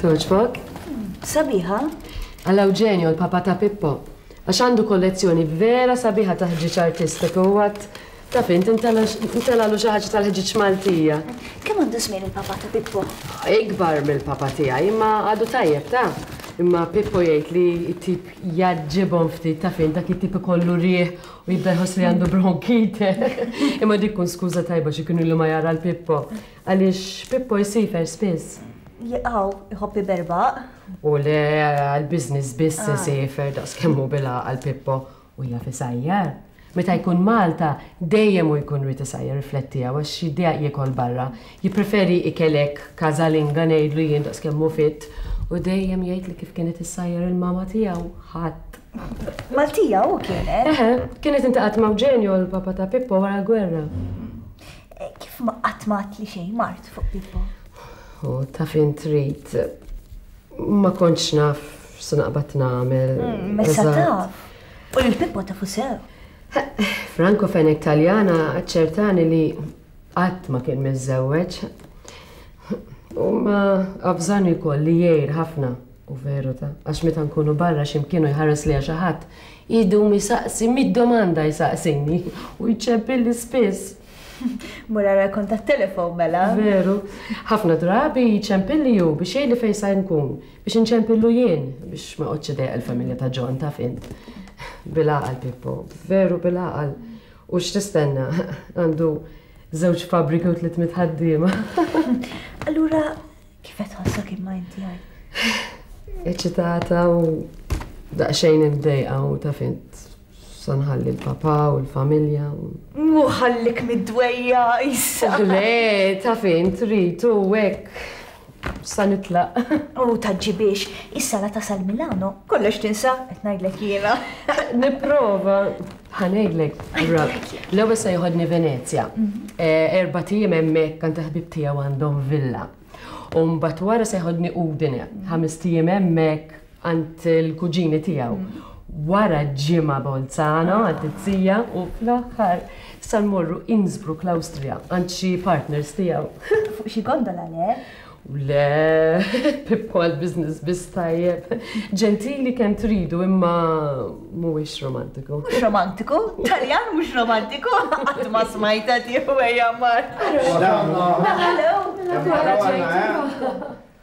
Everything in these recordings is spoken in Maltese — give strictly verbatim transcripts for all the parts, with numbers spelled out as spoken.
Toġbok? Sabiħa. Għal Eugenio, l-papa ta' Pippo. Għax għandu kollezzjoni vera sabiħa ta' ħġieġ artistiku u għat ta' fint intelalu xi ħaġa tal-ħġieġ Maltija. Kemm għandu żmien il-papa ta' Pippo? Ikbar mill-papa tiegħi, imma għadu tajjeb ta' Imma Pippo jgħid li t-tip jaġġibhom ftit ta' fint dak it-tip ikollu riħ u jibda jħoss li għandu bronkite. Imma dik kun skuża tajba xi kienu ilu ma jara l-Pippo. Għaliex Pippo jsifer spiss. Jaqaw, iħobb iberbaq. U le għal-biznis biss isifer daqs kemm hu bil-għaqal Pippo u jaf isajjar. Meta jkun Malta, dejjem hu jkun rid isajjar riflettija għax jiddejjaq jiekol barra. Jippreferi ikelek kazalinga ngħidlu jien daqs kemm hu fit u dejjem jgħid li kif kienet issajjar il-mama tiegħu ħadd. Maltija hu kienet? Eħe, kienet intaqgħet ma' Eugenio l-papa ta' Pippo wara l-gwerra. Kif ma qatt ma għadtli xejn mart fuq Pippo? U ta' fin trid, ma kontx naf x'se naqbad nagħmel. Messa taf. U lil Pippo tafu sew. Franco Fenech Taljana aċċertani li qatt ma kien miżżewweġ. U ma avżani wkoll li jgħir ħafna. U veru ta' għax meta nkunu barra x'imkienu jħares li xi ħadd, idum jisaqsi mid-domanda jsaqsini u jċeppilli spiss. Mur ara kont tat-telefon mela. Veru. Ħafna drabi jċempilli hu biex jgħidli fejn sa nkun, biex inċempillu jien, biex ma qgħodx idejjaq il-familja ta' John taf int. Bil-għaqal Pippo, veru bil-għaqal. U x'tistenna? Għandu żewġ fabbriki u tliet mitt ħaddiema. Allura kif qed tħossok imma inti għaj? Eċitata u daqsxejn imdejqa u taf int sa nħalli l-papa u l-familja. Mu ħallik mid-dwejja issa. Le, taf int trid u hekk sa nitlaq. U taġġibiex, issa la tasal Milano, kollox tinsa, qed ngħidlek jiena. Nipprova. Ħa ngħidlek, l-ewwel se joħodni Venezja. Erbat ijiem hemmhekk għand ħbib tiegħu għandhom villa. U mbagħad wara se jħodni Udine, ħames ijiem hemmhekk għand il-kuġini tiegħu. Wara ġimgħa Bolzano għand it-tija u fl-aħħar sa nmorru Innsbruck l-Awstrija għand xi partners tiegħu. Fuq xi gondola le? Le, Pippo għal-business biss tajjeb. Ġentili kemm tridu imma mhuwiex romantiku. Mhux romantiku? Taljan mhux romantiku? Qatt ma smajta tiegħu ejja mar. Hello.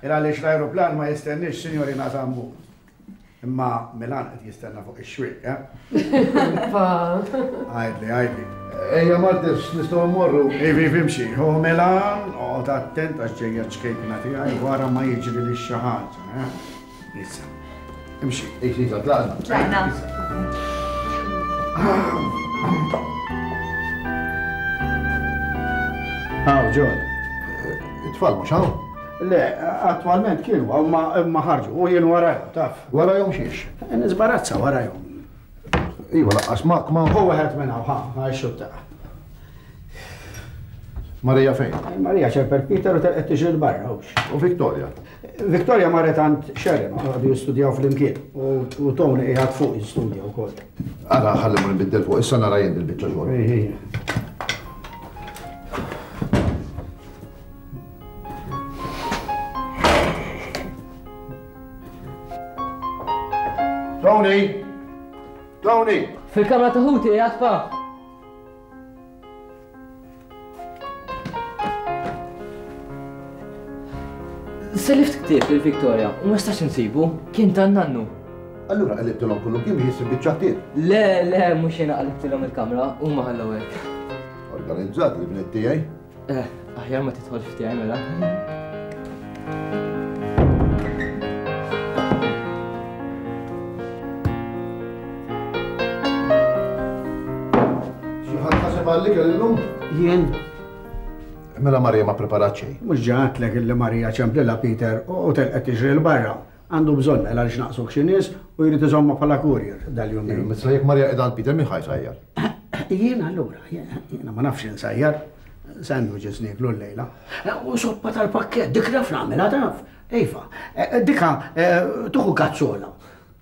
Il għaliex l-ajruplan ma jistennix, signorina Zambu. Imma Milan qed jistenna fuq ix-xwieq, eh? Għajdli, għajdli. Ejja Martis, nistgħu mmorru. Ivi, ivi, imxi. Hu Milan, oqgħod attent għax ġejja ċkejkna tiegħi wara ma jiġri li xi ħaġa, eh? Issa. Imxi. Ix, iva, tlaqna. Tlaqna. Hawn, John. It-tfal mhux hawn? Le, attualment kienu, imma ħarġu, u jien warajhom, taf. Warajhom xiex? Nisbarazza warajhom. Iva, laqqas mak ma. Hu wieħed minn hawn, ħa, ħa xutta. Marija fejn? Marija ċemper Peter u telqet tiġri l-barra, hux. U Victoria? Victoria marret għand Sharon, għadu jistudjaw flimkien, u Tony qiegħed fuq jistudja wkoll. Ara, ħalli ma nbiddel fuq, issa nara jien il-biċċa xogħol. Ej, ej. Tony! Tony! Fil-kamra ta' ħuti, qiegħed pa. Selift ktieb lil Victoria u ma stax insibu, kien tan-nannu. Allura qalibtilhom kullum kien biex issib biċċa ktieb. Le, le, mhux jiena qalibtilhom il-kamra, huma ħallew hekk. Organizzat li bnet tiegħi? Eh, aħjar ma tidħolx f'tiegħi mela. Xi ħadd ħaseb għall-ikel illum? Jien. Mela Marija ma preparat xejn. Mhux ġatlek illi Marija ċemplilha Peter u telqet tiġri 'l barra. Għandu bżonn mela għaliex naqsuk xi nies u jrid iżomma bħala courier dal-jumejn. Mela jekk Marija qiegħda għand Peter min ħa jsajjar? Jien allura, jiena ma nafx insajjar. Sandwiches nieklu llejla. U soppa tal-pakkett, dik naf nagħmilha taf. Iva, dika tuħu kazzola,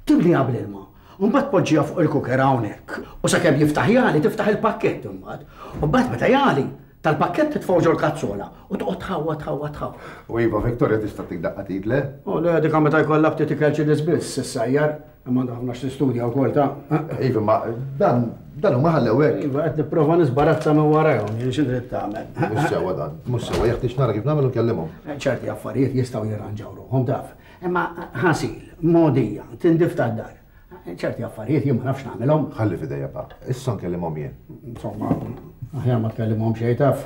timliha bl-ilma. U mbagħad tpoġġiha fuq il-cooker hawnhekk. U sakemm jiftaħ jali, tiftaħ il-pakkett imbagħad. U mbagħad meta jali, tal-pakkett titfgħu ġol-kazzola u toqgħod tħawwa tħawwa tħawwa. U iva, Victoria tista' tik daqqa t'id, le? U le, dika meta jkollha ftit ikel xi nies biss issajjar, imma għandha ħafna x'tistudja wkoll ta'. Iva, ma dan dan huma ħallew hekk. Iva, qed nipprova nisbarazza minn warajhom, jien xi trid tagħmel. Mhux sewwa dan, mhux sewwa, jeħtieġ nara kif nagħmel u nkellimhom. Ċerti affarijiet jistgħu jirranġaw ruħhom taf. Imma ħasil, mogħdija, tindif tad-dar. Ċerti affarijiet jien ma nafx nagħmilhom. Ħalli f'idejja pa. Issa nkellimhom jien. Insomma, aħjar ma tkellimhom xejn taf,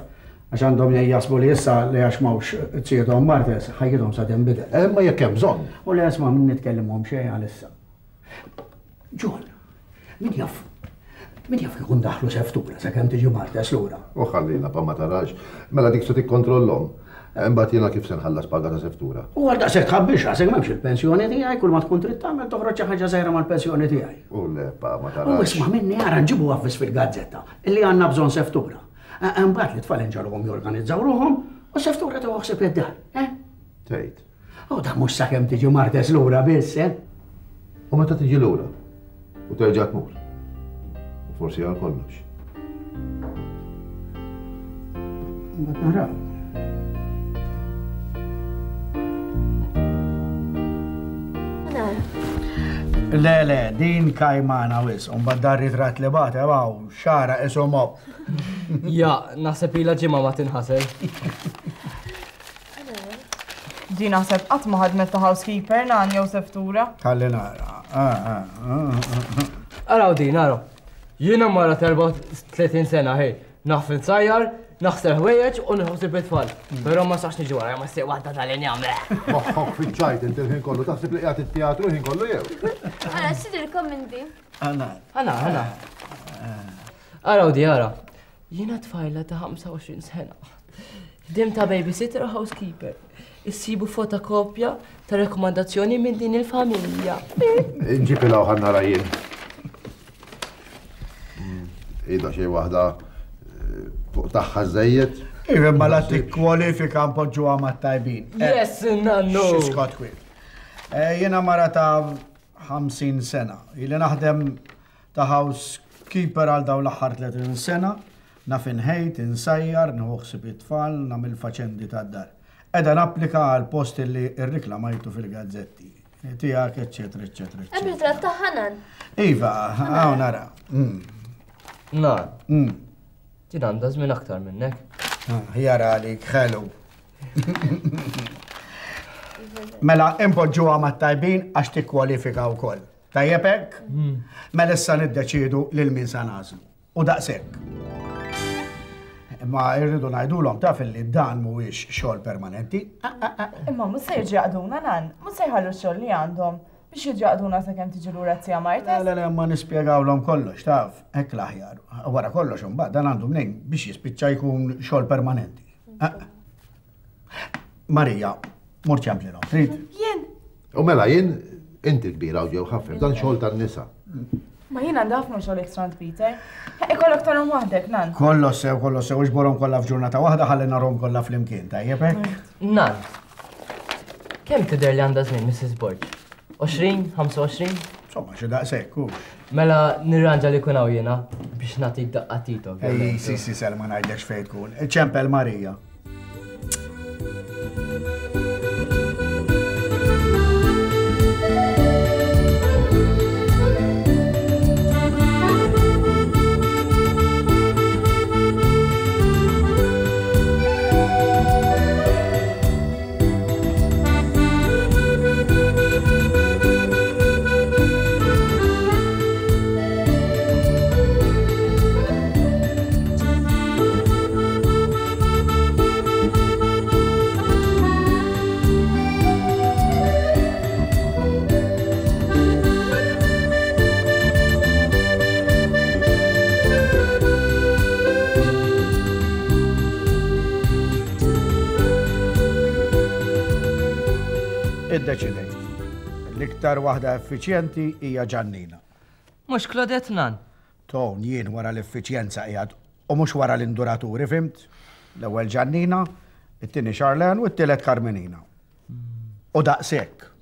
għax għandhom jasbu li issa li għax m'hawnx tsiethom Martes, ħajjithom sa tinbidel. Imma jekk hemm bżonn. U li isma' min nitkellimhom xejn għalissa. John, min jaf, min jaf kieku ndaħlu seftura sakemm tiġi Martes lura. U ħallina pa ma tarax, mela dik se tikkontrollhom. Imbagħad jiena kif se nħallas paga ta' seftura. U għal daqshekk tħabbix rasek m'hemmx il-pensjoni tiegħi, kull ma tkun trid tagħmel toħroġ xi ħaġa żgħira mal-pensjoni tiegħi. U le pa ma tarax. U isma' minni ara nġibu avviż fil-gazzetta illi għandna bżonn seftura. Imbagħad li tfal inġarhom jorganizzaw ruħhom u seftura tieħu ħsieb id-dar, eh? Tgħid. U da mhux sakemm tiġi Martes lura biss, eh? U meta tiġi lura u terġa' tmur. U forsi għal kollox. Mbagħad naraw. Le, le, din kajmana wis, un dar ritrat li bate, waw, xara isom op. Ja, naħseb ilha ġimgħa ma tinħasel. Di naħseb qatt ma ħadmet ta' housekeeper nan jew seftura. Ħalli nara. Araw din, araw. Jiena mara ta' tletin sena, hej, naf insajjar, naħsel ħwejjeġ u nħossib it-tfal. Però ma sax niġi wara, ma ssieq waħda tal-injam. Moħħok fiċ-ċajt inti l-ħin kollu, taħseb li qiegħed it-teatru l-ħin kollu jew? Ara, x'idilkom inti? Ana. Ana, ana. Araw di, ara. Jiena tfajla ta' ħamsa u għoxrin sena. Dim ta' babysitter u housekeeper. Issibu fotokopja ta' rekomandazzjoni minn din il-familja. Nġib il-hawn ħa nara jien. Ida xi waħda fuq tagħha żejjed. Iva, ma la tikkwalifika npoġġuha mat-tajbin. Yes, nannu. Xi kwiet. Jiena mara ta' ħamsin sena. Ili naħdem ta' housekeeper għal dawn l-aħħar tletin sena. Naf inħejt, insajjar, nieħu ħsieb it-tfal, nagħmel faċendi tad-dar. Qiegħda napplika għal post li rriklamajtu fil-gazzetti. Tiegħek, eċċetera, eċċetera, eċċetera. Hemm ritratt ta' Ħanan. Iva, hawn nara. Nan. Din għandha żmien aktar minnek. Ħjar għalik, ħelu. Mela, impoġġuha mat-tajbin għax tikkwalifika wkoll. Tajjeb hekk? Mela issa niddeċiedu lil min sa nagħżlu. U daqshekk. Imma rridu ngħidulhom taf illi dan mhuwiex xogħol permanenti. Imma mhux se jiġu jaqduna nan, mhux se jħallu x-xogħol li għandhom biex jiġu jaqduna sakemm tiġi lura t-tija Martes. Le, le, ma nispjegawlhom kollox, taf, hekk l-aħjar. Wara kollox imbagħad dan għandu mnejn biex jispiċċa jkun xogħol permanenti. Marija, mur ċemplilhom, trid? Jien. U mela jien inti kbira u ġew ħafna, dan xogħol tan-nisa. Ma jien għandha ħafna xogħol extra għand Peter. Ikollok tarhom waħdek, nan. Kollox sew, kollox sew, iġborhom kollha f'ġurnata waħda ħalli narhom kollha flimkien, tajjeb hekk? Nan. Kemm tidher li għandha żmien Missus Borg? għoxrin, ħamsa u għoxrin? Insomma, xi daqshekk hux. Mela nirranġa li kun hawn jiena biex nagħtik daqqa tito. Ej, si, si, Selma ngħidlekx fejn tkun. Ċempel Marija. Iddeċidejt. L-iktar waħda effiċjenti hija Ġannina. Mhux Claudette nan. Ton, jien wara l-effiċjenza qiegħed u mhux wara l-induraturi, fimt? L-ewwel Ġannina, it-tieni Charlene u t-tielet Carmenina. U daqshekk.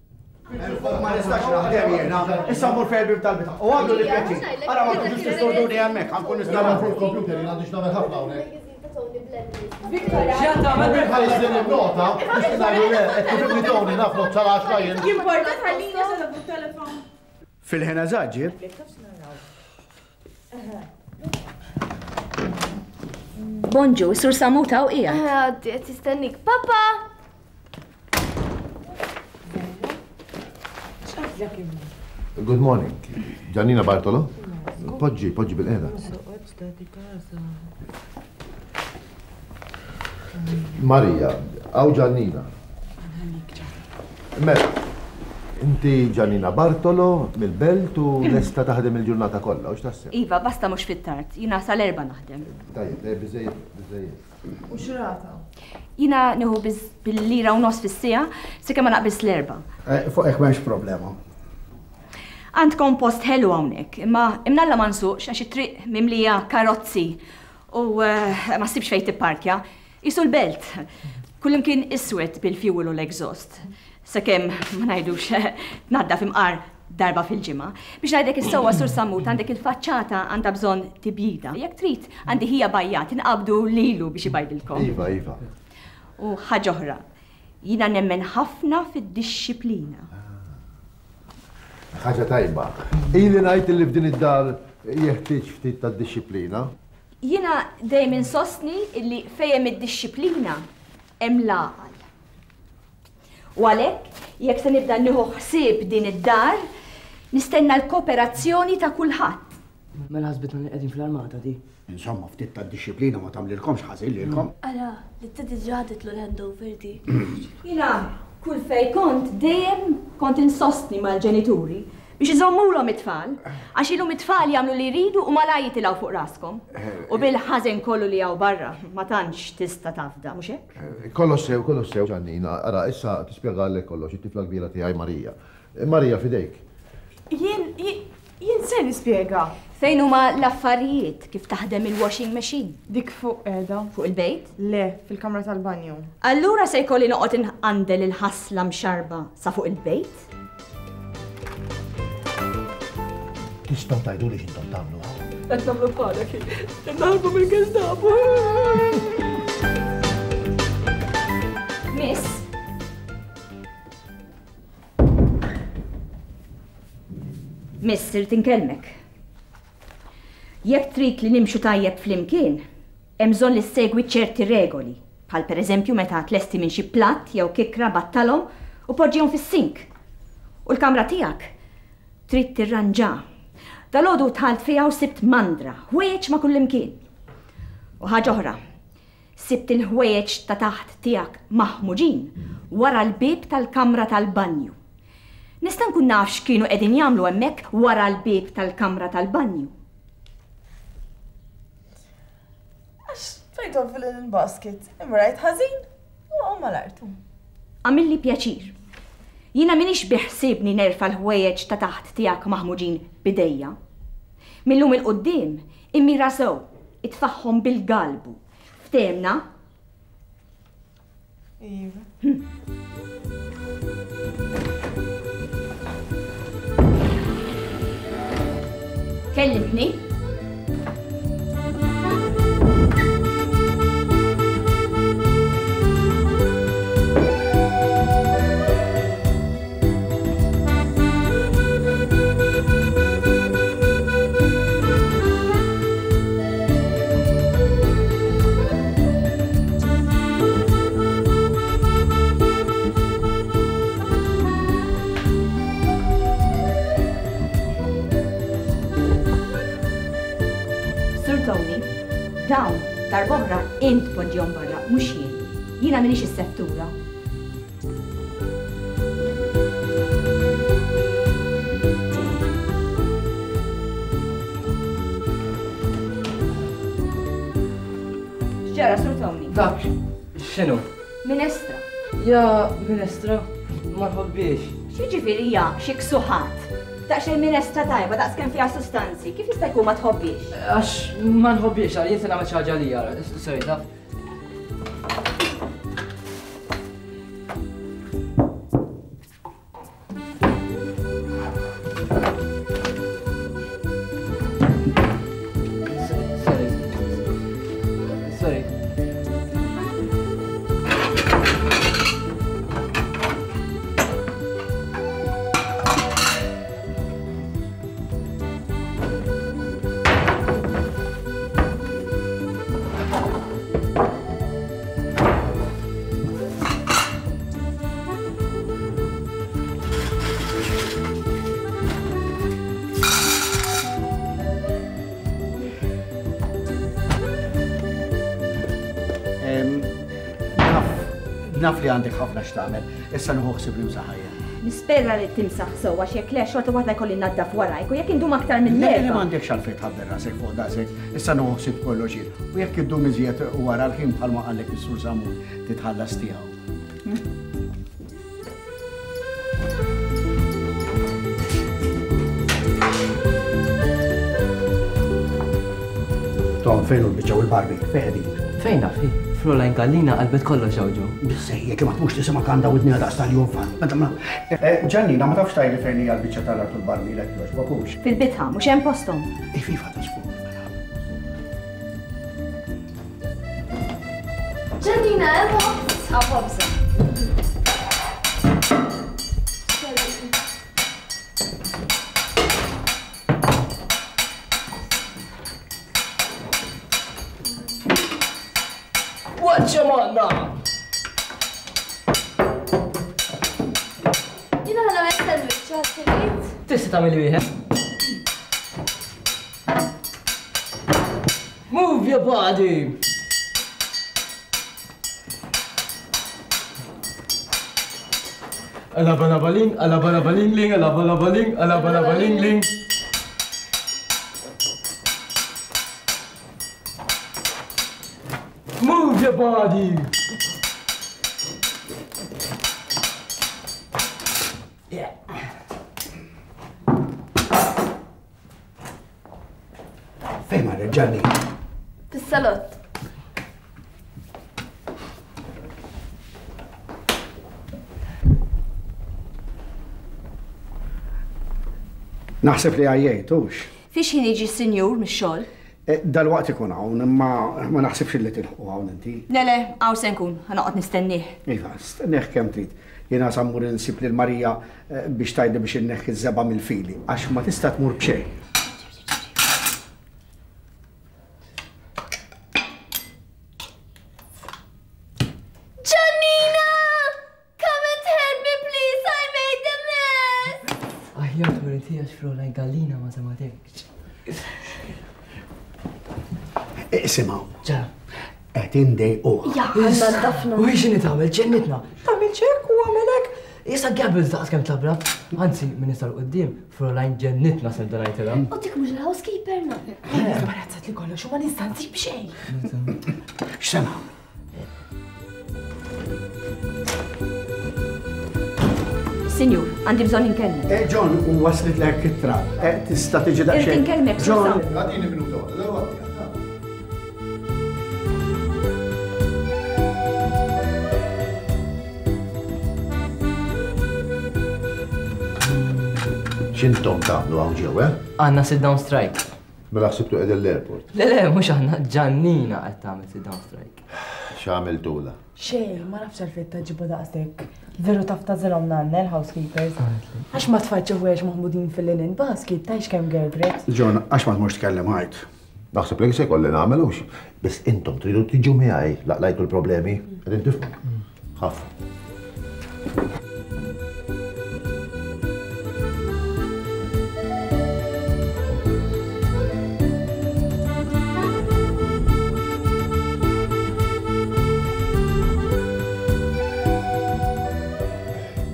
Ma nistax naħdem jiena, issa mmur fejn il-bib tal-bitħa. U għamlu li pjaċir. Ara ma tkunx tistorduni hemmhekk, ħa nkun nista' Nagħmel fuq il-computer, jien għandi x'nagħmel ħafna hawnhekk. X'qed tagħmel? Ħallis din il-nota, biex ngħidu le, qed tifhimni Tony naf not sal-għaxra jien. Jimporta tħallini sa fuq telefon. Fil-ħin eżaġġir. Bonġu, Sur Samuta u qiegħed. Għaddi, qed jistennik. Papa! Good morning. Giannina Bartolo? Poġġi, poġġi bil-qeda. Marija, għaw Giannina. Mela, inti Giannina Bartolo mill-belt u lesta taħdem il-ġurnata kollha, u x'taħseb? Iva, basta mhux fit-tard, jiena sal-erba' naħdem. Tajjeb, tajjeb, biżejjed, biżejjed. U x'rata? Jiena nieħu bil-lira u nofs fis-siegħa sakemm ma naqbis l-erba'. Fuq hekk m'hemmx problema. Għandkom post ħelu hawnhekk, imma imnalla ma nsuqx għax it-triq mimlija karozzi u ma ssibx fejn tipparkja. Isu l-belt, kullimkien iswed bil-fuel u l-exhaust. Sakemm ma ngħidux tnaddaf imqar darba fil-ġimgħa. Biex ngħidlek is-sewwa Sur Sammut għandek il-faċċata għandha bżonn tibjida. Jekk trid għandi ħija bajjat inqabdu lilu biex ibajdilkom. Iva, iva. U ħaġa oħra, jiena nemmen ħafna fid-dixxiplina. Ħaġa tajba. Ili ngħid li f'din id-dar jeħtieġ ftit tad-dixxiplina. Jiena dejjem insostni illi fejn id-dixxiplina hemm l-għaqal. U għalhekk, jekk se nibda nieħu ħsieb din id-dar, nistenna l-kooperazzjoni ta' kulħadd. Mela ħasbitna li qegħdin fl-armata di. Insomma, ftit tad-dixxiplina ma tagħmlilkomx ħażin lilkom. Ara, li t-tedi ġaditlu l-handover di. Jiena kull fej kont dejjem kont insostni mal-ġenituri biex iżommulhom it-tfal, għax ilhom it-tfal jagħmlu li jridu u malaj jitilgħu fuq raskom. U bil-ħażen kollu li hawn barra ma tantx tista' tafda, mhux hekk? Kollox sew, kollox sew, Ġannina. Ara, issa tispjegalek kollox, it-tifla kbira tiegħi Marija. Marija, fidejk. Jien, jien se nispjega. Fejn huma l-affarijiet kif taħdem il-washing machine? Dik fuq qiegħda. Fuq il-bejt? Le, fil-kamra tal-banju. Allura se jkolli noqgħod inqandel il-ħasla mxarba sa fuq il-bejt? Tistgħu tgħiduli x'intom tagħmlu hawn? Qed nagħmlu bħalek, qed naħarbu mill-Gestapo. Miss. Miss, irid inkellmek. Jekk trid li nimxu tajjeb flimkien, hemm bżonn li ssegwi ċerti regoli, bħal pereżempju meta tlesti minn xi platt jew kikra battalhom u poġġihom fis-sink. U l-kamra tiegħek trid tirranġa. Dalgħodu dħalt fiha u sibt mandra, ħwejjeġ ma' kullimkien. U ħaġa oħra, sibt il-ħwejjeġ ta' taħt tiegħek maħmuġin wara l-bieb tal-kamra tal-banju. Nista' nkun naf x'kienu qegħdin jagħmlu hemmhekk wara l-bieb tal-kamra tal-banju. Għax tfajthom fil-linen basket, imma rajt ħażin u waqgħu mal-art. Għamilli pjaċir. Jiena m'iniex biħsiebni nerfa' l-ħwejjeġ ta' taħt tiegħek maħmuġin bidejja. Millum il-quddiem immira sew, itfaħħom bil-galbu. Ftehmna? Iva. Kellimtni? Dawn, darb'oħra int poġġihom barra, mhux jien. Jiena m'iniex is-settura. X'ġara, Sur Tony? Dak, x'inhu? Minestra. Ja, minestra. ma nħobbix. X'jiġifieri ja, xi ksuħat? Daqsxejn minestra tajba, daqs kemm fiha sustanzi, kif jista' jkun ma tħobbix? Għax ma nħobbix, għal jien se nagħmel xi ħaġa lija, sorry, taf. Sorry. Sorry. Naf li għandek ħafna x'tagħmel, issa nieħu ħsieb li msaħajja. Nispera li timsaħ sew għax jekk le xorta waħda jkolli naddaf warajk u jekk indum aktar minn Le, le erba'. m'għandekx għalfejn tħabber rasek fuq daqshekk, issa nieħu ħsieb kollox jien. U jekk iddum iżjed wara l-ħin bħalma qallek is-Sur Samur titħallas tiegħu. Tom, fejn hu l-biċċa u l-Barbie? Fejn qegħdin? Fejn naf, hi? Fräulein Gallina qalbet kollox hawn ġew. Biżejjed ma tmux tisimgħek għandha widniha daqs tal-jufan. Ġannina, ma tafx tgħidli fejn hija l-biċċa tal-art u l-Barbie lek jogħġbok hux. Fil-bitħa, mhux hemm posthom. Ififa ta' żgur. Ġannina, hemm ħobż. Hawn ħobża. Waċċa manna! Jiena ħa nagħmel sandwich, ħadd irid? Tista' tagħmel wieħed. Move your body! Alabalabaling, alabalabaling, ling, alabalabaling, alabalabaling, ling. Move your body! Yeah. Fejn marret Ġannina? Fis-salott. Naħseb li għajjejt, hux. Fiex ħin jiġi s-sinjur mix-xogħol? Dal-waqt ikun hawn, imma ma naħsibx li tilħqu hawn inti. Le, le, hawn se nkun, ħa noqgħod nistennieh. Iva, stennieh kemm trid. Jiena sa mmur insib lil Marija biex tgħidli biex inneħħi ż-żebgħa mill-fili, għax ma tista' tmur b'xejn. Ġannina! Come and help me, please, I made a mess! Aħjar tmur inti għax Fräulein Gallina ma sematekx. Isimgħu. Ġa. Qed indejquha. Ja, għandna ndafna. U hi x'inhi tagħmel? Ġennitna. Tagħmel ċekk u għamel hekk. Issa Gabriel daqs kemm tlabra. Anzi, minn issa l quddiem, Fräulein ġennitna se nibda ngħidilha. U dik mhux il-housekeeper na. Imbarazzat li kollox u ma nista' nsib xejn. X'se nagħmel? Sinjur, għandi bżonn inkellmek. Eh, John, u waslet lek ittra. Eh, tista' tiġi daqsxejn. Irrid inkellmek, John. Susan. Għadini minuta waħda, dal-waqt. X'intom tagħmlu hawn ġew, eh? Għandna sit down strike. Mela ħsibtu qegħdin l-airport. Le, le, mhux aħna, Ġannina qed tagħmel sit down strike. X'għamiltula? Xejn, ma nafx għalfejn taġibu daqshekk. Veru taf tażilhom nanna l-housekeepers. Għax ma tfajtx ħwejjeġ maħmudin fil-linen basket, tajx kemm girl grips. John, għax ma tmurx tkellem ħajt. Naħseb li se jkolli nagħmel hux. Biss intom tridu tiġu miegħi laqlajtu l-problemi. Qegħdin tifhmu. Ħafna.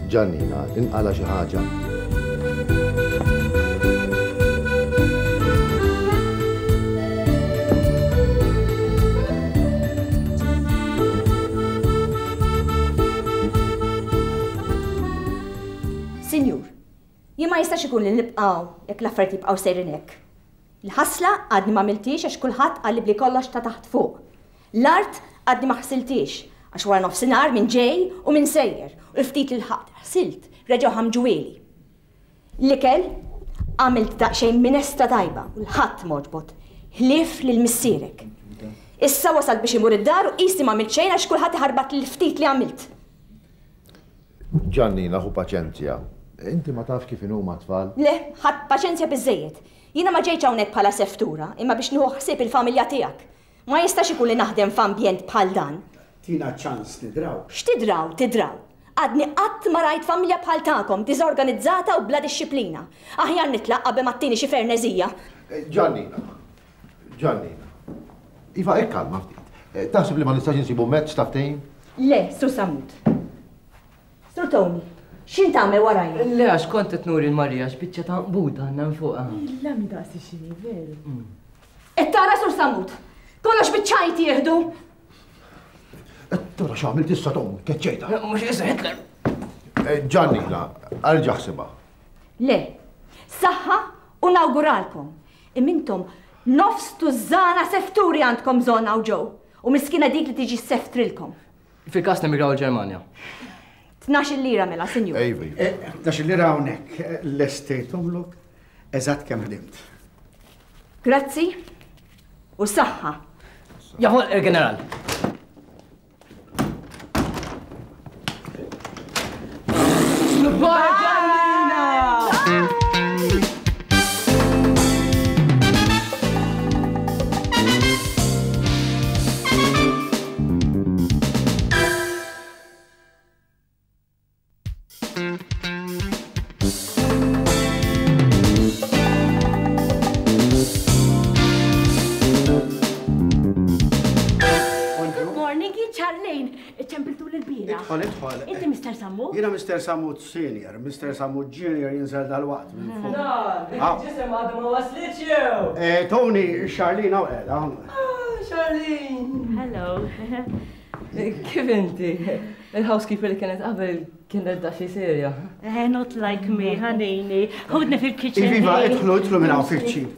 Ġannina, inqala xi ħaġa. Ma jistax ikun li nibqgħu jekk l-affarijiet jibqgħu sejrin hekk. Il-ħasla għadni ma għamiltix għax kulħadd qalli bli kollox ta' taħt fuq. L-art għadni ma ħsiltix għax wara nofsinhar minn ġej u minn sejjer u l-ftit li lħaqt ħsilt reġgħu ħamġuwieli. L-ikel għamilt daqsxejn minestra tajba u l-ħadd m'għoġbot, ħlief lil missierek. Issa wasalt biex imur id-dar u qisni m'għamilt xejn għax kulħadd iħarbat l-ftit li għamilt. Ġannina, ħu paċenzja. Inti ma taf kif inhuma tfal? Le, ħadd paċenzja biżejjed. Jiena ma ġejtx hawnhekk bħala seftura, imma biex nieħu ħsieb il-familja tiegħek. Ma jistax ikun li naħdem f'ambjent bħal dan. Tina ċans nidraw. X'tidraw, tidraw? Għadni qatt ma rajt familja bħal tagħkom, diżorganizzata u bla dixxiplina. Aħjar nitlaq qabel ma ttini xi ferneżija. Ġannina, Ġannina. Iva, ikkalma ftit. Taħseb li ma nistax insibu mezz ta' ftehim? Le, Sur Sammut. Sur Tony, x'int tagħmel warajja? Le, għax kont qed nuri l-Marija x'biċċa ta' nqbuda għandna minn fuqha. Illa mi daqsi xini, veru. Qed tara Sur Sammut, kollox biċ-ċajt jieħdu. Qed tara x'għamilt issa Tom, keċċejta. Mhux issa Hitler. Ġannina, erġa' ħsibha. Le, saħħa u nawguralkom. Imma intom nofs tużżana sefturi għandkom bżonn hawn ġew u miskina dik li tiġi seftrilkom. Fil-każ nemigraw il-Ġermanja. Tnax-il lira mela, sinjur. Ejva. Tnax-il lira hawnhekk, lestejthomlok eżatt kemm ħdimt. Grazzi u saħħa. Jaħol il-ġeneral. Bye, Ġannina! Good morning, jien Charlene. Ċempiltu l-bira. Idħol, idħol. Inti Mister Sammut? Jiena Mister Sammut Senior, Mister Sammut Junior jinżel dal-waqt minn fuq. Na, dik il-ġisem għadu ma waslitx jew. Eh, Tony, Charlene hawn qiegħda. Ah, Charlene. Hello. Kif inti? Il-housekeeper li kienet qabel kienet daxxi serja. Eh, not like me, ħanini. Ħudni fil-kitchen. Iva, idħlu, idħlu minn hawn fil-kċin.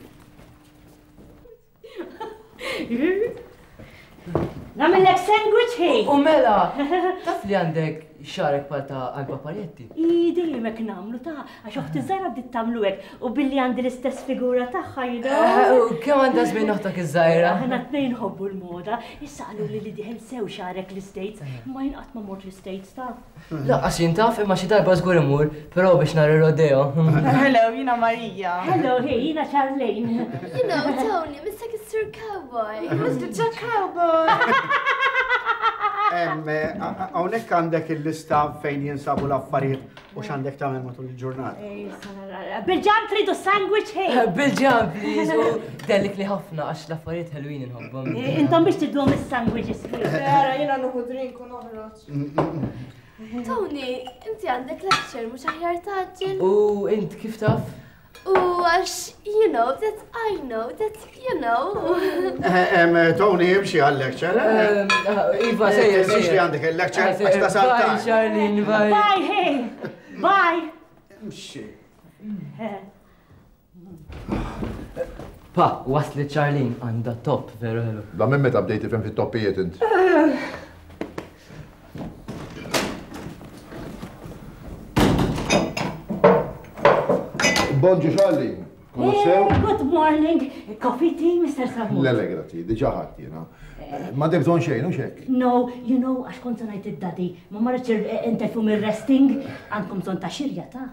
Nagħmellek sandwich ħej. U mela, taf li għandek xarek bħal ta' Alba Parietti? I dejjem hekk nagħmlu ta' għax oħti żgħira bdiet tagħmlu hekk u billi għandi l-istess figura tagħha, you know. U kemm għandha żmien oħtok iż-żgħira? Aħna tnejn nħobbu l-moda. Issa qalu li li diħel sew xarek l-States, ma jien qatt ma mort l-States ta'. Laqqas jien taf imma xi darba żgur imur, però biex nara ir-rodeo. Hello, jiena Marija. Hello, hey, jiena Charlene. You know, Tony, Mister Sir Cowboy. Mister Jack Cowboy. Hawnhekk għandek il-lista fejn jinsabu l-affarijiet u x'għandek tagħmel matul il-ġurnata. Bil-ġam tridu sandwich ħej. Bil-ġam, please, u dellik li ħafna għax l-affarijiet ħelwin inħobbhom. Intom biex tidduhom is-sandwiches. Ara, jiena nieħu drink u noħroġ. Tony, inti għandek lecture mhux aħjar taġġel. U int kif taf? U għax, you know, that I know, that you know. Tony, imxi għal-lecture. Iva, sejjer. Tinsiex li għandek il-lecture, għax tasal Bye, Charlene, bye. Bye, hey. Bye. Imxi. Pa, waslet Charlene għandha top, veru ħelu. Da minn meta bdejt tifhem fit-toppijiet int? Bonġu Charlene, kollox sew? Good morning. Coffee tea, Mister Sammut? Le, le, grazzi, diġà ħadd jiena. Ma għandek bżonn xejn, hux hekk? No, you know, għax kont se ngħid id-daddy, ma marritx interfu mir-resting, għandkom bżonn ta' xirja ta'.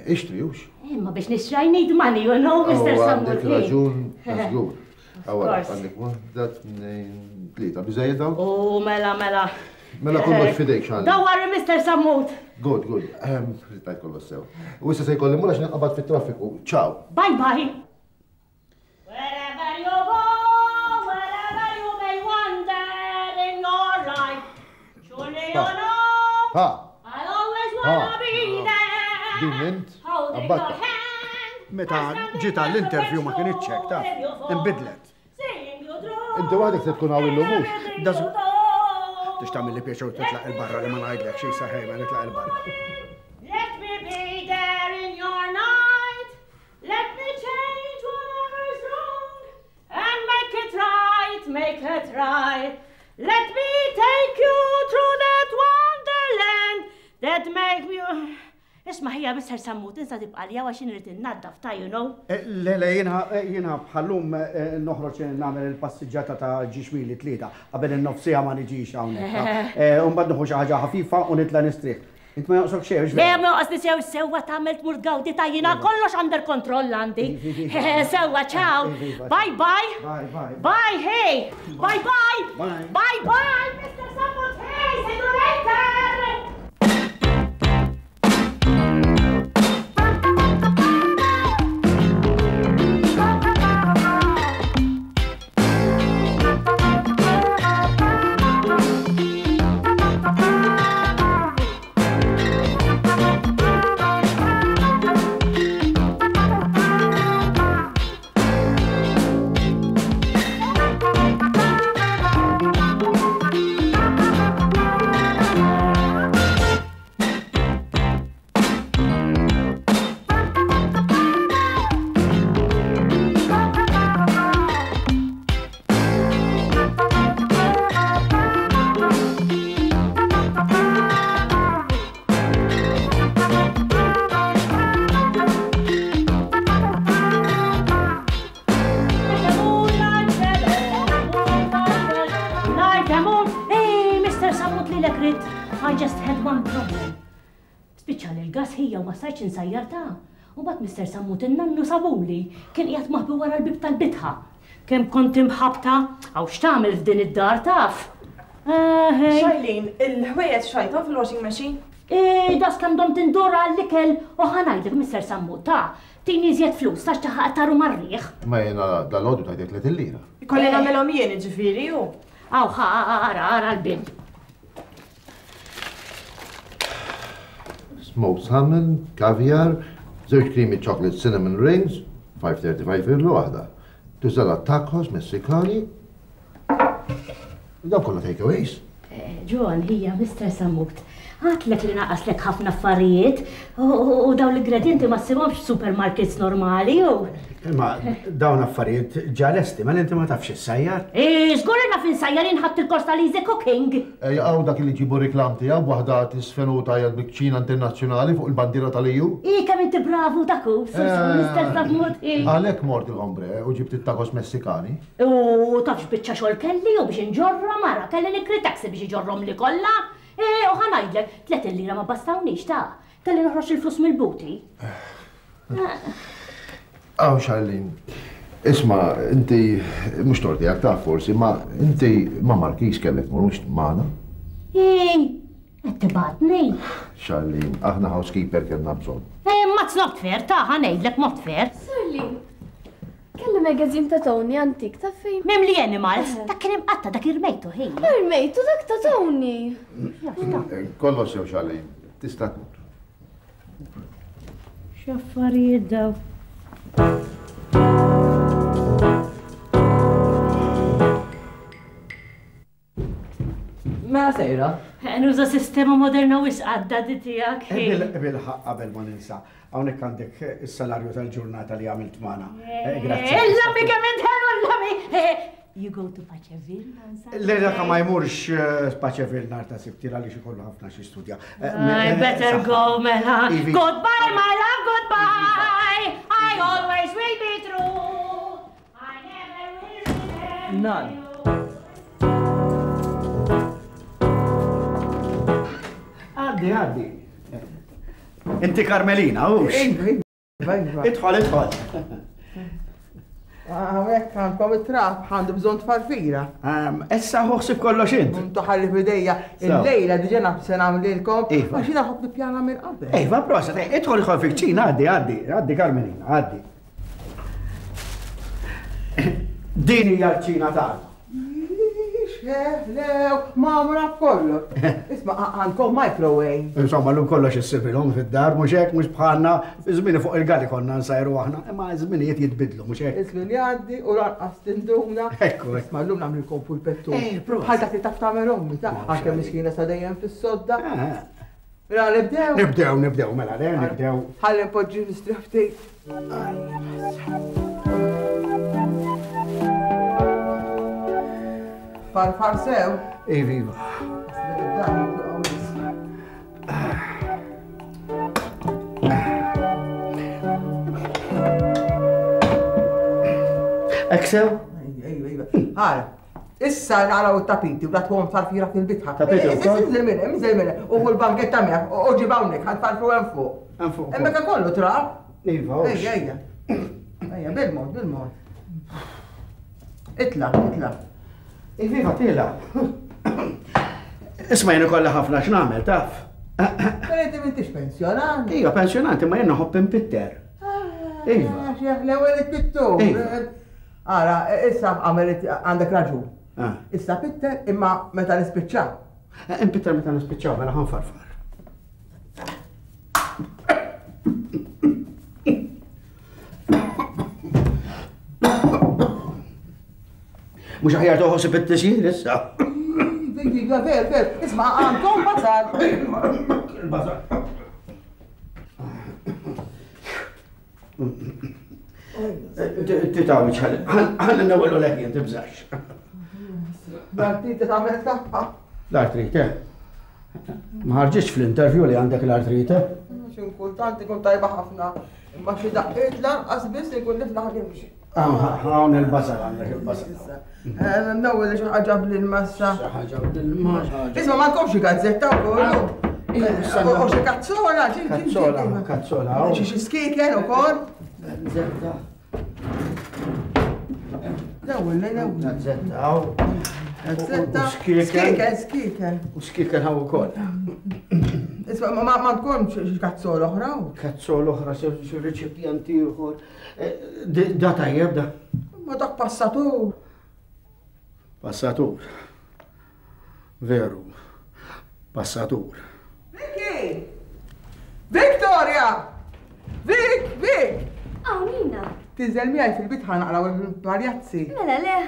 Ixtri, hux? Imma biex nixtri I need money, you know, Mister Sammut. Għandek raġun, ta' żgur. Awara, għandek waħda, tnejn, tlieta, biżejjed dawn? U mela, mela. Mela kollox fidejk, Charlene. Don't worry, Mister Sammut. Good, good. Rittajt kollox sew. U issa se jkolli mmur għax ninqabad fit-traffiku. Ciao. Bye bye. Wherever you go, wherever you may wander in your life, surely you know Ha. I'll always wanna be there. Din int? Holding your hand. Meta ġiet għall-interview ma kienitx hekk, taf. Inbidlet. Inti waħdek se tkun hawn illum mhux? Tix tagħmel li pjaċew titlaq il-barra li ma ngħidlek xi saħej ma nitlaq il-barra. Let me be there in your night. try. Let me take you through that wonderland that make me... Isma' ħija Mister Sammut, insa tibqa' li għax irid innaddaf ta' you know. Le, le, jiena bħallum noħroġ nagħmel il-passiġġata ta' ġiex mili tlieta qabel in-nofsija ma niġix hawnhekk. U mbagħad nieħu xi ħaġa ħafifa u nitla' nistrieħ. Int ma joqsok xejn. Le, ma joqsni sew sewwa tagħmel tmur tgawdi ta' jiena kollox under control għandi. Sewwa, ciao. Bye bye. Bye bye. Bye, hey. Bye bye. Bye bye, Mister Sammut, hey, see you later. I just had one problem. Spiċċa l-gas ħija u ma stajtx insajjar ta'. U bat Mister Sammut in-nannu sabuli kien qiegħed maħbi wara l-bib tal-bitħa. Kemm kont imħabta, għaw x'tagħmel f'din id-dar taf. Charlene, il-ħwejjeġ xajthom fil-washing machine? Eh, das kemm dom tindura għall-ikel u ħa ngħidlek Mister Sammut ta' tini iżjed flus tax taħaq taru marriħ. Ma jiena dal-għodu tajtek tliet il-lira. Ikolli nagħmelhom jien jiġifieri hu. Aw ħa ara ara l-bil. Smoked salmon, caviar, żewġ creamy chocolate cinnamon rings, five thirty-five euro waħda. Tużala tacos Messikani. Dawn kollha takeaways. John, hija Mister Sammut. Għatlek li naqaslek ħafna affarijiet u dawn l-ingredienti ma ssibhomx supermarkets normali u. Imma dawn affarijiet ġa lesti, ma inti ma tafx issajjar. Eh, żgur li naf insajjar inħadd il-kors tal-easy cooking. Ejja, dak li ġibu reklam tiegħu waħda tisfen u tajjeb bil-kċina internazzjonali fuq il-bandiera tal-E U. I kemm inti bravu dak hu, Mister Sammut. Għalhekk mort il-ombre u ġibt it-tacos Messikani. U tafx biċċa xogħol kelli u biex inġorra mara, kelli nikri taxi biex iġorrom li kollha. U ħa ngħidlek, tliet il-lira ma bastawnix ta' kelli noħroġ il-flus mill-buti. Aw, Charlene, isma', inti mhux torti għak taf forsi, ma inti ma Markis kellek tmur mhux magħna. Ej, qed tibgħatni. Charlene, aħna housekeeper kellna bżonn. Ma it's not fair, ta' ħa ngħidlek not fair. Charlene, kelli magazine ta' Tony antik ta' fejn. Mimli Animals, dak kien imqatta dak irmejtu ħin. Irmejtu dak ta' Tony. Kollox sew Charlene, tista' tmur. X'affarijiet daw. Mela sejra? Nuża sistema moderna wisq għadda di tiegħek. Bil-ħaqq qabel ma ninsa. Hawnhekk għandek is-salarju tal-ġurnata li għamilt magħna. Grazzi. Illa mi kemm intħelu illa mi. You go to Paceville on Saturday? Le dak ma jmurx Paceville nhar ta' Sibt għaliex ikollu ħafna xi studja. I better go mela. Goodbye my love, goodbye. I always will be true. I never will remember. None. Għaddi, għaddi. Inti Carmelina, hux? Idħol, idħol. Hawnhekk għandkom it-trab, għandu bżonn tfarfira. Issa ħossib kollox int. Intu ħalli f'idejja. Il-lejla diġà naf se nagħmlilkom għax jiena ħobb nippjana minn qabel. Iva, proset, idħol idħol fil-kċina, għaddi, għaddi, għaddi Carmelina, għaddi. Din hija l-kċina tagħna. Lew, mamra kollox. Isma' għandkom microwave. Insomma, l-lum kollox issibilhom fid-dar, mhux hekk, mhux bħalna, żmieni fuq il-gali konna nsajru aħna, imma żminijiet jitbidlu, mhux hekk. Iż-żmien jgħaddi u lanqas tinduna. Ekku, ekku. Isma' llum nagħmlilkom pulpettu. Bħal dak li taf tagħmel ommi, ta' għalkemm miskina sa dejjem fis-sodda. Mela nibdew? Nibdew, nibdew, mela le, nibdew. Ħalli npoġġi nistrieħ ftit. Farfar sew. Iva, iva. Hekk sew? Iva, iva. Ħara, issa naraw it-tapiti u datwhom farfira fil-bitħa. Tapiti wkoll? Inżel minn hemm, inżel minn hemm. U l-banketta miegħek, u ġib hawnhekk, ħa tfarfru hemm fuq. Hemm fuq. Hemmhekk kollu trab. Iva, Ejja, ejja. Ejja, bil-mod, bil-mod. Itla, itla. Iva, tila. Isma' jien ikollha ħafna x'nagħmel, taf. Però inti m'intix pensjonant. Iva, pensjonant, imma jien nħobb impitter. Iva. L-ewwel it-pittu. Ara, issa għamel għandek raġun. Issa pitter imma meta nispiċċaw. Impitter meta nispiċċaw, mela ħanfarfar. Mhux aħjar toħosib it-tisjir issa. Iva, ver, ver, isma' għandhom basal. Il-basal. Titawġ, ħalli nawelu leħjen, tibżax. L-artrite tagħmel tagħha. L-artrite? Ma ħarġitx fl-interview li għandek l-artrite? Xi kultant ikun tajba ħafna, imma xi daqqiet lanqas biss ikun niflaħ nimxi. Hawn il-basal għandek il-basal. Nawel xi ħaġa bl-massa. Xi ħaġa bl-massa. Isma' m'għandkomx xi gazzetta wkoll. U xi kazzola, Kazzola, kazzola. Xi skieken ukoll. Gazzetta. L-ewwel, l-ewwel. Gazzetta hawn. Gazzetta. Skieken, skieken. U skieken hawn ukoll. Isma' ma m'għandkomx xi kazzola oħra? Kazzola oħra, xi reċipjent ieħor. Da tajjeb da. Ma dak passatur. Passatur. Veru. Passatur. Vicky! Victoria! Vic, Vic! Aw, Nina. Tinżel miegħi fil-bitħa naqraw il-paljazzi. Mela le.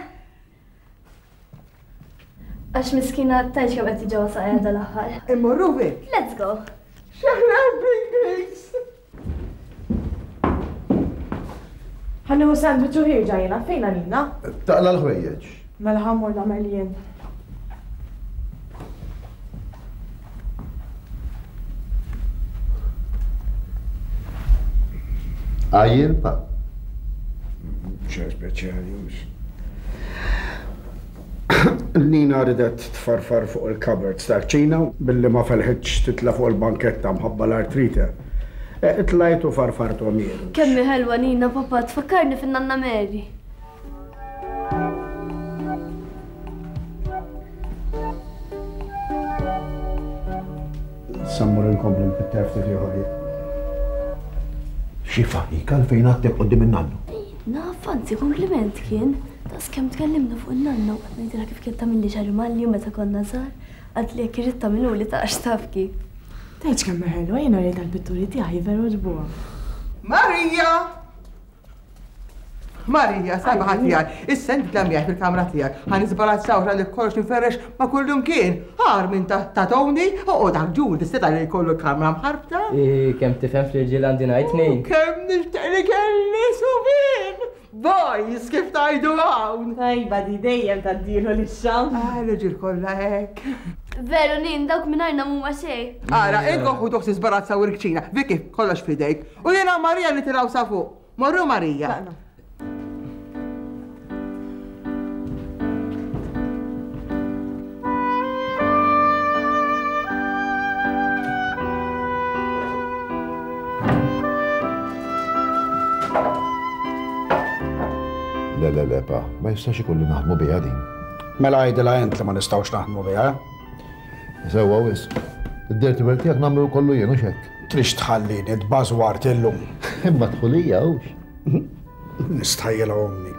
Għax miskina tajx kemm qed tiġi saqajja dal-aħħar. Immorru Vic. Let's go. Xeħrew bl-Ingliż. Ħanniħu sandwich u ħirġa jiena, fejn Nina? Taqla l-ħwejjeġ. Mela ħammur nagħmel jien. Għajjel pa? Xejn speċjali hux. Nina ridet tfarfar fuq il-cupboards tal-kċina billi ma felħitx titla' fuq il-banketta mħabba l-artrite. Tlajt u farfartu jien. Kemm hi ħelwa Nina, papà, tfakkarni fin-nanna Mary. Sammur inkompli npitter ftit ieħor jien. Xi faħik għalfejn għatteb quddiem in-nannu? Naf, anzi kompliment kien. Daqs kemm tkellimna fuq in-nanna u qed ngħidilha kif kien tagħmilli xagħri malli meta konna żgħar, għad li jekk irrid tagħmiluli ta' għax taf kif. Tgħidx kemm hi ħelwa, jiena rrid tal-pitturi tiegħi veru għoġbuha. Marija! Marija, sabaħ tiegħek, issa inti tla miegħek fil-kamra tiegħek, ħa nisbarazzaw li kollox nferrex ma' kullum kien. Ħar minn ta' Tony, oqgħod dak ġur tista' li jkollu l-kamra mħarbta. Ih, kemm tifhem fl-irġiel għandi ngħid tnejn. Kemm nixtieq li kelli subien! Boys, kif tajdu hawn? Tajba di dejjem tgħaddilu lix-xam. Ah, l-irġiel kollha hekk. Veru Nin, dawk mingħajrna mhuma xejn. Ara, inkom ħudu ħsieb sbarazzaw il-kċina, Vicky, kollox f'idejk. U jiena Marija nitilgħu sa fuq. Morru Marija. Le, le, le, pa, ma jistax ikun li naħdmu biha din. Mela għidilha int li ma nistgħux naħdmu biha. Sewwa wisq. Id-dirty work tiegħek nagħmlu kollu jien u x'hekk. Trix tħallini tbażwart illum. Imma dħulija hux. Nistħajjilha ommi.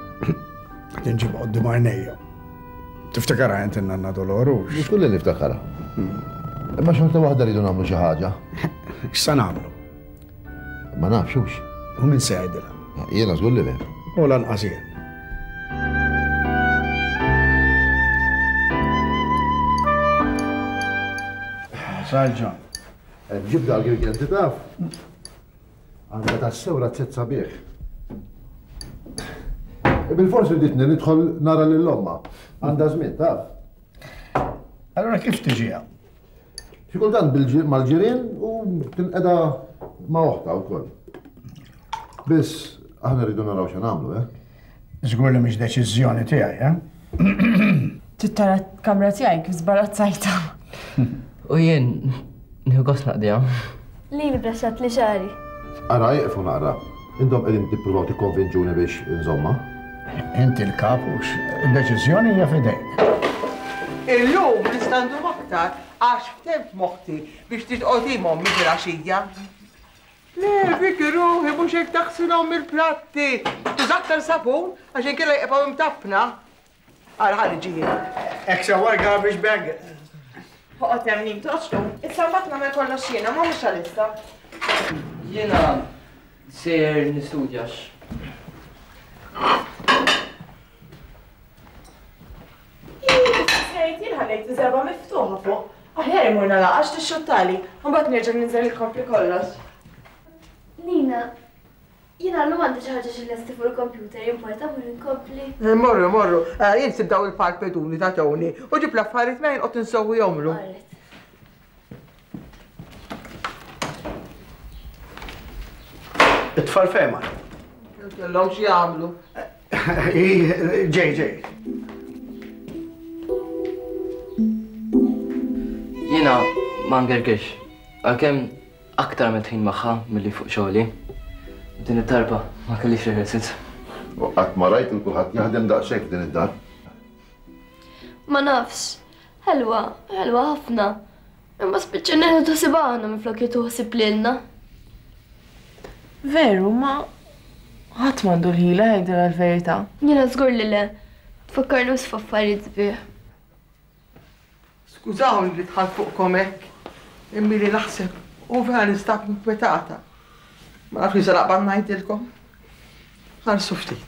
Qed inġibha quddiem għajnejja. Tiftakarha int in-nanna Dolorux? Mhux kulli niftakarha. Imma xorta waħda rridu nagħmlu xi ħaġa. X'sa nagħmlu? Ma nafx hux. U min se jgħidilha? Jiena żgur li le. U lanqas jien. Sarġa. Ġibda għal-girgenti taf. Għandha tassew razzett sabiħ. Bil-forsi riditni nidħol nara lil omma. Għandha żmien taf. Allora kif tiġi hawn? Xi kultant mal-ġirien u tinqeda ma' oħtha wkoll. Biss aħna rridu naraw x'għan nagħmlu, eh? Żgur li mhix deċiżjoni tiegħi, eh? Trid tara l-kamra tiegħi kif żbarazzajtha. U jien nieħu gost naqdiha. Lili braxxat li xagħri. Ara ieqfu naqra. Intom qegħdin tippruvaw tikkonvinċuni biex inżomma. Inti l-kap hux, id-deċiżjoni hija f'idejk. Illum nista' ndum aktar għax ftemt moħħti biex titqgħod ommi filgħaxija. Le, Vicky ruħi mhux hekk taħsilhom il-platti. Tuża aktar sapun għax inkella jibqgħu imtappna. Ara ħalli ġie. Hekk sewwa l-garbage bag. Oqgħod hemm nim toqgħodx tlum. Issa mbagħad nagħmel kollox jiena, ma mhux għalissa. Jiena sejjer nistudja. Jien ħallejt iż-żerba miftuħa fuq. Aħjar imur nagħlaq għax tixxuttali, u mbagħad nerġa' ninżel inkompli kollox. Nina, jiena llum għandi xi ħaġa xi lesti fuq il-computer, jimporta mur inkompli. Morru, morru, jien sib daw il-palpeduni ta' Tony u ġib l-affarijiet ma jinqgħod insewwihomlu. It-tfal fejn marru? Kellhom xi jagħmlu. Ġej, ġej. Jiena ma ngergirx, għalkemm aktar għamilt ħin magħha milli fuq xogħli. Din id-darba ma kellix rehearsals. U qatt ma rajt il kulħadd jaħdem daqshekk din id-dar. Ma nafx, ħelwa, ħelwa ħafna. Imma spiċċa neħdu taħsib aħna minflok jieħdu ħsieb lilna. Veru, ma ħadd m'għandu l-ħila jgħidilha l-verità. Jiena żgur li le, tfakkarni wisq f'affarijiet sbieħ. Skużawni li dħalt fuqkom hekk, imma li naħseb u vera nistab inkwetata. Ma nafx li se naqbad ngħidilkom. Ħarsu ftit.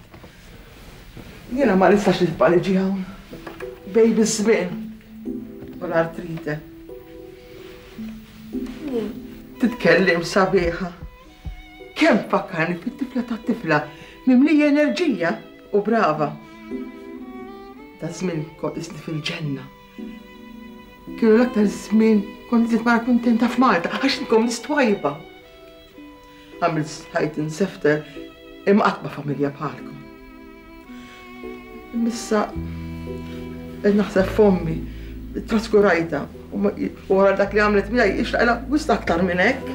Jiena ma nistax nibqa' niġi hawn. Bej biż-żmien u l-artrite. Titkellem sabiħa. Kemm fakkarni fit-tifla tat-tifla mimlija enerġija u brava. Da żmien kont isni fil-ġenna. Kienu l-aktar żmien kont iżjed mara kuntenta f'Malta għax inkom nies twajba. Għamilt ħajt insefter imma qatt ma familja bħalkom. Imma qed naħseb f'ommi, traskurajta u wara dak li għamlet miegħi ixtaqilha wisq aktar minn hekk.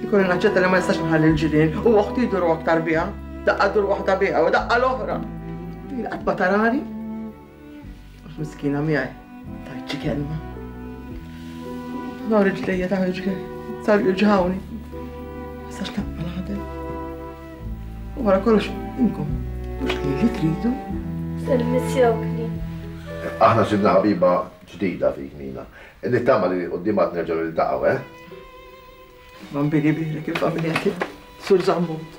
Ikolli naċċetta li ma nistax nħalli l-ġirien u oħti jduru aktar biha, daqqa dur waħda biha u daqqa l-oħra. Qatt ma tarani. Għax miskina miegħi. Tajt xi kelma. Nhar riġlejja ta' riġlej, sar jirġawni. Nistax naqbel naħdem. U wara kollox inkom, mhux li li tridu. Se nimmissjawk li. Aħna sibna ħabiba ġdida fik Nina. Nittama li quddiem għad nerġgħu niltaqgħu, eh? Bambini birek il-familja tiegħek, Sur Zammut.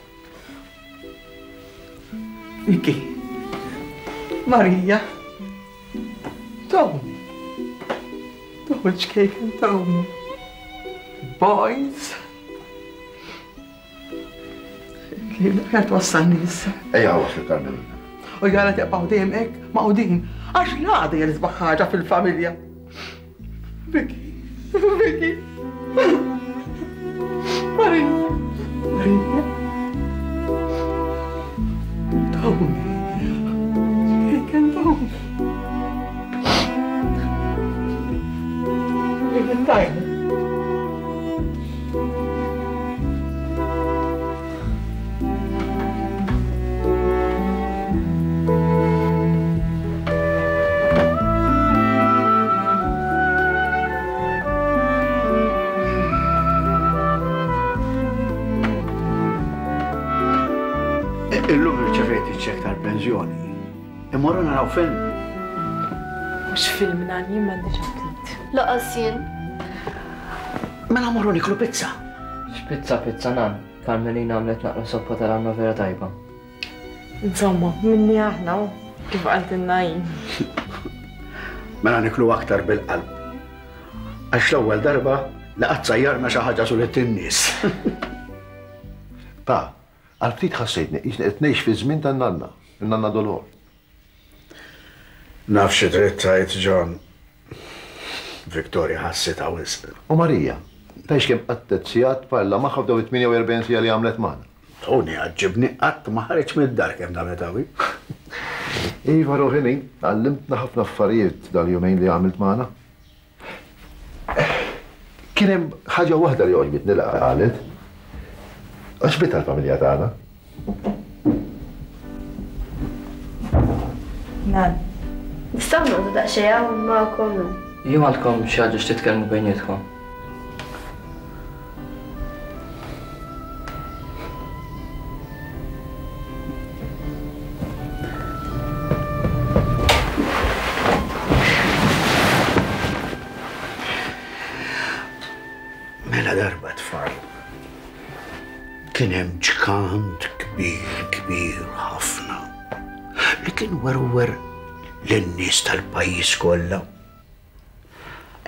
Vicky. Marija. Tony. Tony ċkejken Tony. Boys. Ħer twassalni issa. Ejja waslu Carmelina. U jara tibqgħu dejjem hekk maqudin għax l-għada hija l-isbaħ ħaġa fil-familja. Vicky, Vicky. Marija, Marija. Tony. Ċkejken Tony. Tajna. Illum irċevejt iċ-ċekk tal-pensjoni. Immorru naraw film. Mhux film nan, jien m'għandix aptit. Laqas jien. Mela morru niklu pizza. X'pizza pizza nan? Carmelina għamlet naqra soppa tal-għanna vera tajba. Insomma, minni aħna kif qaltilna hi. Mela niklu aktar bil-qalb. Għax l-ewwel darba li qatt sajjarna xi ħaġa sulit in-nies. Pa, għal ftit ħassejtni qisni qed ngħix fi żmien tan-nanna, in-nanna Dolor. Naf xi trid tgħid, John. Victoria ħassitha wisq. U Marija, tgħidx kemm qattet sigħat tparla magħha f'dawn it-tmienja u erbgħin siegħa li għamlet magħna. Tony għaġġibni qatt ma ħareġ mid-dar kemm damet hawn. Iva Rohini, għallimtna ħafna affarijiet dal-jumejn li għamilt magħna. Kien hemm ħaġa waħda li għoġbitni li qalet. Għaġbitha l-familja tagħna. Nan. Nistgħu noqogħdu daqsxejn hawn magħkom. Jew għandkom xi ħaġa x'titkellmu bejnietkom? Mela darba tfal. Kien hemm ġgant kbir kbir ħafna li kien werwer lin-nies tal-pajjiż kollha.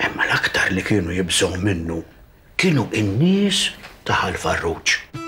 Imma l-aktar li kienu jibżgħu minnu kienu n-nies ta' Ħal Farruġ.